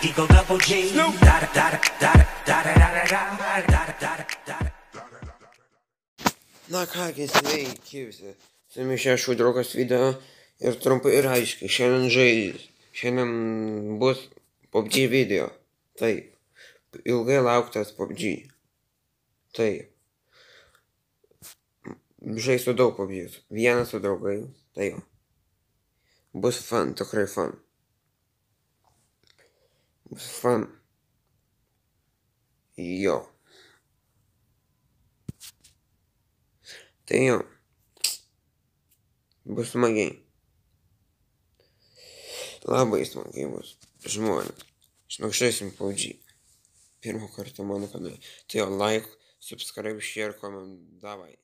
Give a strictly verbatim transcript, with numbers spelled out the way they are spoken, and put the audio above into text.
Eagle double G. Na kągi, sveiki visi. Su jumis čia Šū draugas video ir trumpai ir aiškiai. Šiandien žais. Šiandien bus P U B G video. Taip. Ilgai lauktas P U B G. Taip. Žaisiu daug P U B G. Vienas su draugai. Taip. Bus fun, tikrai fun. Bus fun. Jo. Tai jo. Bus smagiai. Labai smagiai bus. Žmonės. Žinok, žaisim P U B G. Pirmą kartą mano kanale. Tai jo, like, subscribe, share, comment. Davai.